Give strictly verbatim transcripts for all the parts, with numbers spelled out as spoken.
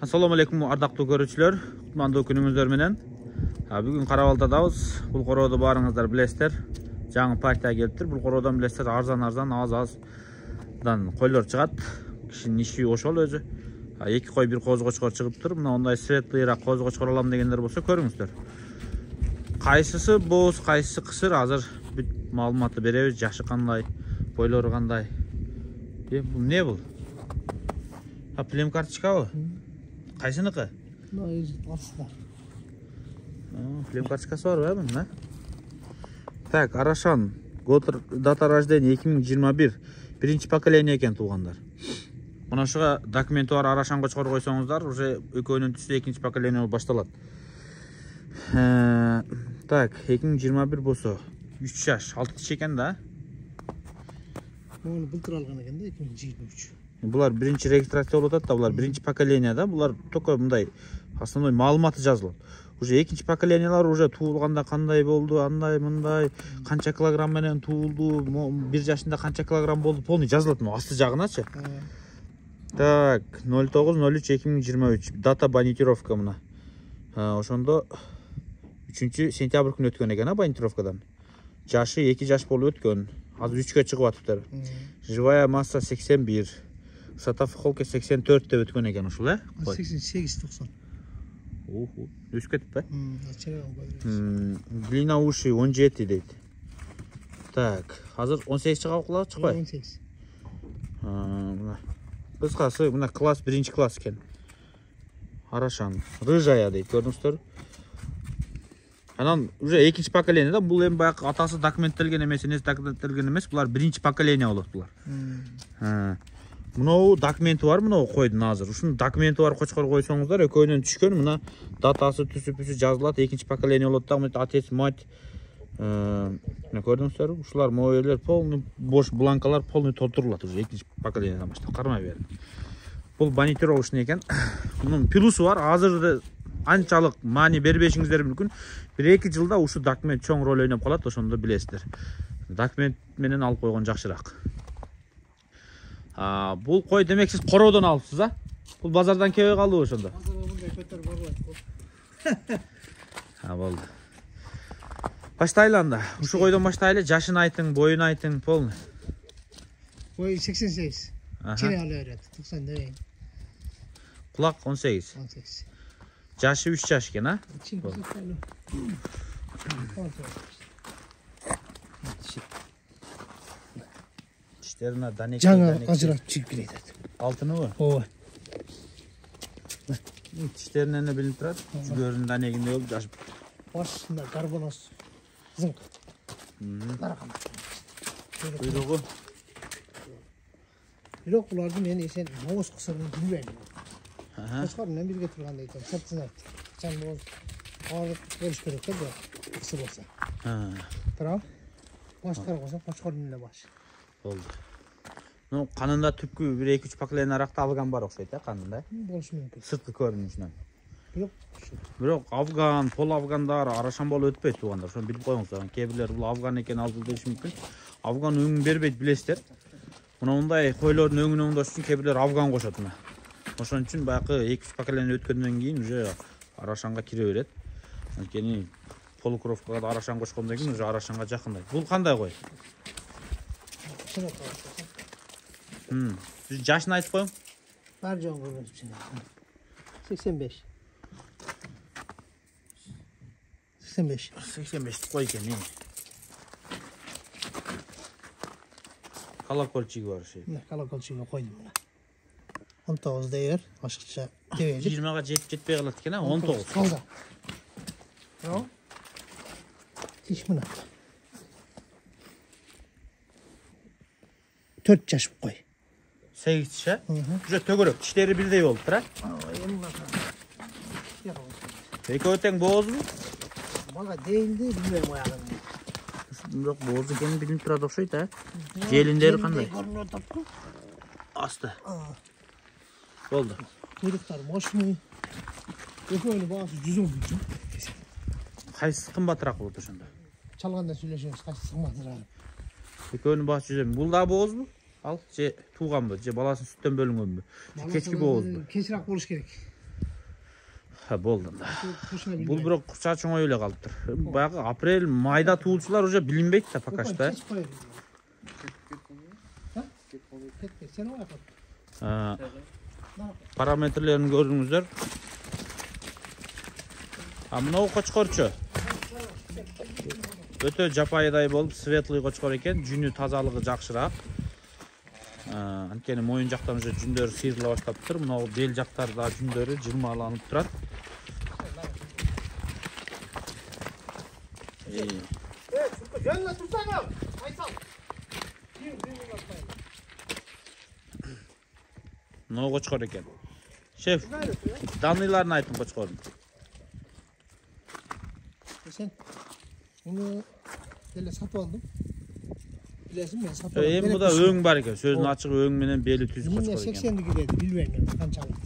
Assalamu alaikum ардактуу көрүүчүлөр, кутмандуу күнүңүздөр менен. Бүгүн Карабалтадабыз. Бул короодо баарыңыздар билесиздер. Жаңы партия келиптир. Бул короодон билесиздер, арзан-арзан, аз-аздан койлор чыгат. Кишинин иши ошол өзү. Эки кой, бир коз-кочкор чыгыптыр. Мына ондай светлыйраак коз-кочкор алам дегендер болсо көрүңүздөр. Кайсысы боз, кайсысы кысыр, азыр бүт маалыматты беребиз. Жашы кандай, бойлору кандай. Бул не бул? А плем карточкабы? Кайсыныкы? Плем карточкасы бар мı? Да? Так, Арашан. Год дата рождения эки миң жыйырма бир. Биринчи поколение экен туугандар. Мына ушуга документи бар Арашан кочкор койсоңуздар, уже экөөнүн түсү экинчи поколение болуп башталат. Так, эки миң жыйырма бир болсо үч жаш, алты тиш экен да? Муну былтыр алган экен да, эки миң жыйырма үч. Булар биринчи регистрация болуп атат да, булар биринчи поколение да, булар только мындай основной маалыматы жазылат. Уже экинчи поколениялар уже туулганда кандай болду, андай мындай, канча килограмм менен туулду, бир жашында канча килограмм болду, полный жазылат мына асты жагыначы. Так, ноль тогуз ноль үч эки миң жыйырма үч. Дата банитировка мына. Ошондо үчүнчү сентябрь күнү өткөн экен, а банитировкадан. Жашы эки жаш болуп өткөн. Азыр үчкө чыгып атыптыр. Живая масса сексен бир. Высота в холке сексен төрт деп өткөн экен ушул, э? сексен сегиз токсон. Оху, өсүп кетиппи? М, длина уши он жети дейт. Так, азыр он сегиз чыгабы кулак чыкпай? он сегиз. Мына. Кыскасы, мына класс биринчи класс экен. Арашан. Рыжая дейт, көрдүңүздөр. Анан уже экинчи поколение да, бул эми баягы атасы документтелген эмес, энеси документтелген эмес, булар биринчи поколение болот булар. М. Мынау документи бар, мынау койдун азыр. Ушунун документи бар кочкор койсоңуздар, экөөнүн түшкөн, мына датасы, түсү-пүсү жазылат, экинчи поколение болот да, мына отец, мать. Мына көрдүңүздөрбү? Ушулар моелер полный бош бланкалар полный толтурулат уже экинчи поколениеден баштап. Кармай берин. Бул банитировочный экен. Мунун плюсу бар, азыр анчалык маани бербешиңиздер мүмкүн. бир эки жылда ушу документ чоң роль ойноп калат, ошондо билесиздер. Документ менен алып койгон жакшыраак. А, бул кой демек сиз короодон алыпсыз, а? Бул базардан келбей калдыбы ошондо? Базарга мындай көтөрүп барбайт. А, болду. Баштайлы анда. Ушу койдон баштайлы, жашын айтың, боюн айтың, полный. Бой сексен сегиз. Чене ала берет, токсон дейин. Кулак он сегиз. он сегиз. Жашы үч жаш экен, а? Тиштерине данек. Жаңа ажыратып чыгып келет. Алтыныбы? Ооба. Тиштеринен билинип турат. Жүгөрүнүн данегинде болуп жашып. Башында карбоноз. Зыңк. Таракан. Буйругу. Бирок буларды мен эсен боз кысырын билбейм. Аха. Кочкор менен бирге турганда экен, сыртын айтты. Чан боз арып болуш керек да, бу кысыр болсо. Ha. Тура. Баштар болсо кочкор менен баш. Болду. Ну, канында түпкү бир эки үч поколение аракта алган бар окшойт, а канында? Болушу мүмкүн. Сырткы көрүнүшүнөн. Бирок Бирок афган, пол афгандар Арашан болуп өтпөйт туугандар. Ошону билип коюңуздар. Кээ бирлер бул афган экен алып деши мүмкүн. Афган өңүн бербейт, билесиздер. Мына мындай койлордун өңүн оңдош үчүн кээ бирлер афган кошот мына. Ошон үчүн баягы эки үч поколение өткөндөн кийин уже Арашанга кире берет. Анткени полукровкага да Арашан кошкондон кийин уже Арашанга жакындай. Бул кандай кой? Хм. Сиз жашын айтып коюң. бар жөн көргөнсүн. сексен беш. сексен беш. сексен беш кой экен, эми. Колокольчиги бар ошо. Мына колокольчигине койдум мына. он тогуз дейер, ашыкча дебейт. жыйырмага жетип жетпей калат экен, а? он тогуз. Калда. Бирок тиш мына. төрт жаш кой. сегиз тиш, а? Уже төгөрөк, тиштери бирдей болуптур, а? Экөө тең боозбу? Мага дейилди, билбейм аягын. Бирок бооз экени билинип турат окшойт, а? Желиндери кандай? Көрүнүп атат. Асты. Болду. Куйруктар мощный. Экөөнүн баасы жүз он миң. Кайсы кымбатыраак болот ошондо? Чалганда сүйлөшөбүз, кайсы кымбатыраак. Экөөнүн баасы жүз он миң. Бул да боозбу? Ал же тууганбы, же баласын сүттөн бөлүнгөнбү? Же кечки боозбу? Кечирээк болуш керек. Ха, болду да. Тушуна Бул бирок чачоңой эле калыптыр. Баягы апрель, майда туулчулар уже билинбейт да пока что. Сен ой Параметрлерин көрүңүздөр. А мынау кочкорчу. Өтө жапайдай болуп, светлый кочкор экен, жүнү тазалыгы жакшыраак. Анткени моюн жактан уже жүндөр сыйрыла баштаптыр. Мынау бел жактарда жүндөрү жырмаланып турат. Эй. Э, жөнүнө турсаңыз, айсал. Мынау кочкор экен. Шеф, данныйларын айтың кочкордун. Сен муну эле сатып алдым. Билесиң, мен сатып алдым. Эми мында өң бар экен. Сөздүн ачыгы өң менен бели түз кочкор экен. сексен кирет, билбейм канчалык.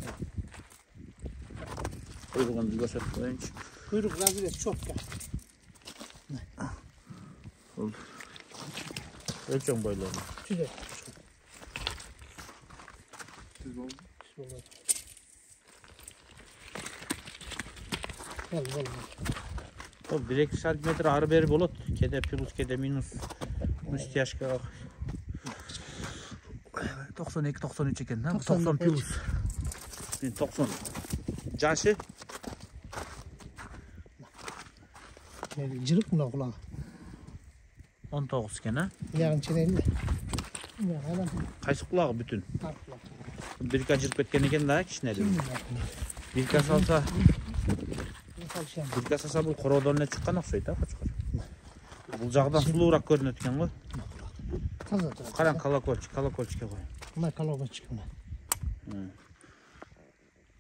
Куйругун көрсөтүп коеюнчу. Куйрук разрез четко. Өлчөң бойлору. Түзөт. Түз болду. Түз болду. Бол, бол. О, bir iki santimetr ары бери болот. Кеде плюс, кеде минус. Стяжка. токсон эки токсон үч экен, да? токсон плюс. Мен токсон. Жашы? Жырык мына кулагы. он тогуз экен, а? Ягын ченейин да. Кайсы кулагы бүтүн? Так кулак. Бирка жырып кеткен экен да, кичинеде. Бирка салса, бирка салса бул короодон эле чыккан окшойт, а, кочкор. Бул жагдан сулуураак көрүнөт экен го. Таза турат. Караң, колокольчик, колокольчикке кой. Мына колокольчик мына.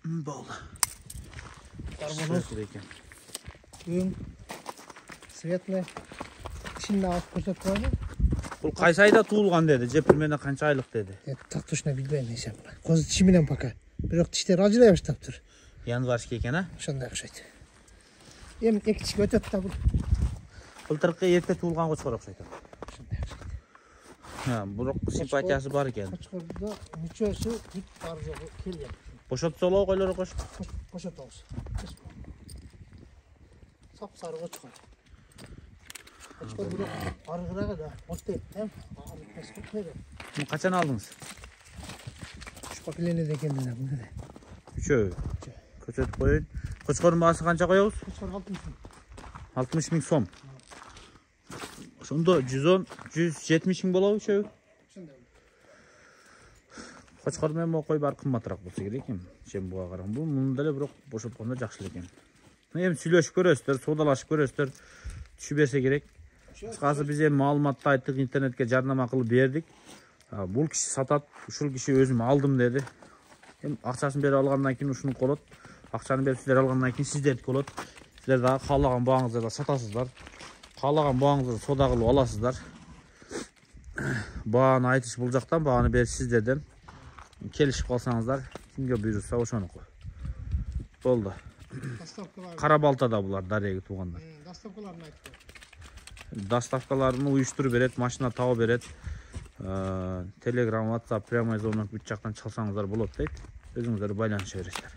Болду. Карбоноз экен. өң светлый. Ичинде алып көрсөтүп койду. Бул кайсы айда туулган деди, же примерно канча айлык деди? Так точно билбейм эсен. Көз тиши менен пока. Бирок тиштер ажырай баштаптыр. Январский экен, а? Ошондой окшойт. Эми эки тишке өтөт да бул. Былтыркы эрте туулган кочкор окшойт. Ошондой окшойт. Ha, бирок симпатиясы бар экен. Кочкордо мүчөсү бүт бар жогу келген. Бошотсолоо койлору кош. Бошотобуз. Сап сары кочкор. Кочкор бирок аргырага да оттойт, эм. Муну качан алдыңыз? Үч поколениеде экендин мында. Үчөө. Көрсөтүп коеюн. Кочкордун баасы канча коебуз? Кочкор алтымыш миң. алтымыш миң сом. Ошондо жүз он, жүз жетимиш миң болобу үчөө? Ошондой. Кочкор менен могу кой баары кымбатыраак болсо керек экен. Чем буга караган. Бул муну деле бирок бошоткондо жакшы экен. Эми сүйлөшүп көрөсүздөр, соодалашып көрөсүздөр. Түшү берсе керек. Кыскасы биз эми маалыматты айттык, интернетке жарнама кылып бердик. Бул киши сатат, ушул киши өзүм алдым деди. Эми акчасын берип алгандан кийин ушуну колот. Акчаны берип сиздер алгандан кийин сиздердики болот. Сиздер дагы каалаган бааңыздарда сатасыздар. Каалаган бааңыздарды соода кылып аласыздар. Бааны айтыш бул жактан, бааны бериш сиздерден. Келишип калсаңыздар, кимге буйрурса ошонуку. Болду. Кара балтада булар дареги туугандар. Доставкаларын айтты. Доставкаларын уюштуруп берет, машина табып берет. Telegram, WhatsApp, прямой звонок бүт жактан чалсаңыздар болот дейт. Өзүңүздөр байланыша бересиздер.